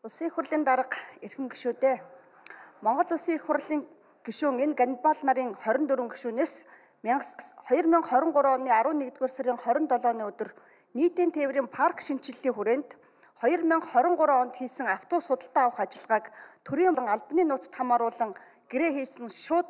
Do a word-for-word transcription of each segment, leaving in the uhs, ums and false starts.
Улсын их хурлын дарга эрхэм гишүүдээ Монгол Улсын их хурлын гишүүн энэ Ганнибал нарын хорин дөрвөн гишүүнээс хоёр мянга хорин гурав оны арван нэгдүгээр сарын хорин долооны өдөр нийтийн тээврийн парк шинжиллийн хүрээнд хоёр мянга хорин гурав онд хийсэн автобус худалдаа авах ажиллагааг төрийн албаны нууцт хамааруулан гэрээ хийсэн шууд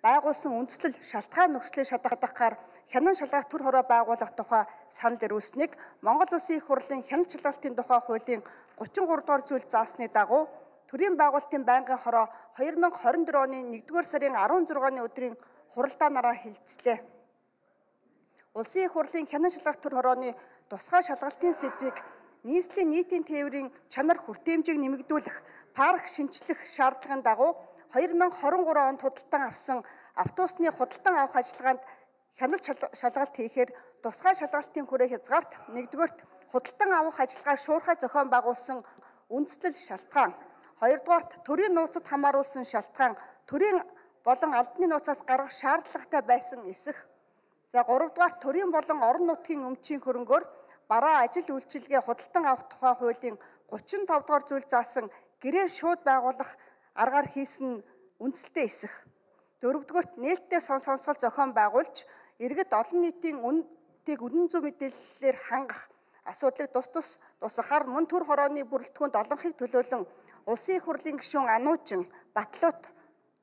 байгуулсан үндэслэл шалтгаан нөхцөлийг шатгахдахаар хянан шалгах төр хороо байгуулах тухай санал ирүүлсэнийг Монгол Улсын их хурлын хяналт шалгалтын тухай хуулийн гучин гурав дугаар зүйл заасны дагуу төрийн байгуулалтын байнгын хороо хоёр мянга хорин дөрөв оны нэгдүгээр сарын арван зургааны өдрийн хуралдаанаараа хэлэлцлээ. Улсын их хурлын хянан шалгах төр хорооны тусгай шалгалтын сэдвийг нийслэлийн нийтийн тээврийн чанар хүртээмжийг нэмэгдүүлэх парк шинчлэх шаардлагын дагуу хоёр мянга хорин гурав онд худалдан авсан автобусны худалдан авах ажиллагаанд хяналт шалгалт хийхээр тусгай шалгалтын хүрээ хязгаарт нэгдүгээрт худалдан авах ажиллагааг шуурхай зохион байгуулсан үндэслэл шалтгаан, хоёрдугаарт төрийн нууцад хамааруулсан шалтгаан, төрийн болон албаны нууцаас гаргах шаардлагатай байсан эсэх. За гуравдугаарт төрийн болон орон нутгийн өмчийн хөрөнгөөр бараа ажил үйлчилгээ худалдан авах тухай хуулийн гучин тав дугаар зүйл заасан гэрээ шууд байгуулах аргаар хийсэн үндэслэлтэй эсэх. Дөрөвдүгээрт нээлттэй сон сонсгол зохион байгуулж иргэд олон нийтийн үнэтэйг үнэн зөв мэдээллээр хангах асуудлыг тус тус тусахаар мөн төр хорооны бүрэлдэхүүнд олонхыг төлөөлөн Улсын их хурлын гишүүн Ануучин, Батлуут,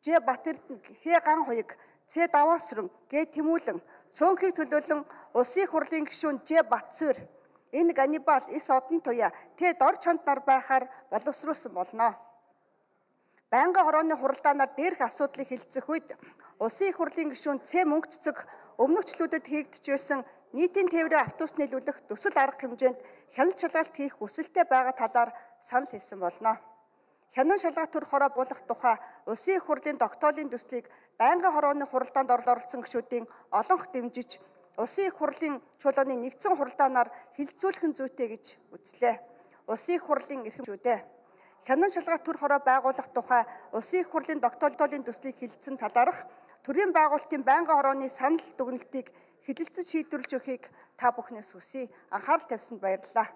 Ж Батэрдэн, Х Ган хуйг, Ц Даваасрын, Г Тэмүүлэн, цөөнхийг төлөөлөн Улсын их хурлын гишүүн Ж Батсуур, энэ Ганнибал, С Одон туяа Т Дор чонд нар байхаар боловсруулсан болно. Байнгын хорооны хуралдаанаар дээрх асуудлыг хэлцэх үед Улсын их хурлын гишүүн Ц Мөнгө цэцэг өмнөгчлүүдэд хийгдэж байсан нийтийн тээврийн автобус нийлүүлэх төсөл арга хэмжээнд хяналт шалгалт хийх хүсэлтэй байгаа талаар санал хэлсэн болно. Хянан шалгах төр хороо буулгах тухай Улсын их хурлын тогтоолын төслийг байнгын хорооны хуралдаанд оролцсон гишүүдийн олонх дэмжиж Улсын их хурлын чуулганы нэгдсэн хуралдаанаар хилцүүлэх зүйтэй гэж үзлээ. Улсын их хурлын эрхэм гишүүдээ хянан шалгах төр хороо байгуулах тухай Улсын их хурлын тогтоолын төслийг хэлэлцэн талаарх төрийн байгуулалтын байнгын хорооны санал дүгнэлтийг хэлэлцэж шийдвэрлэж өгөхийг та бүхнээс хүсье. Анхаарал тавьсанд баярлалаа.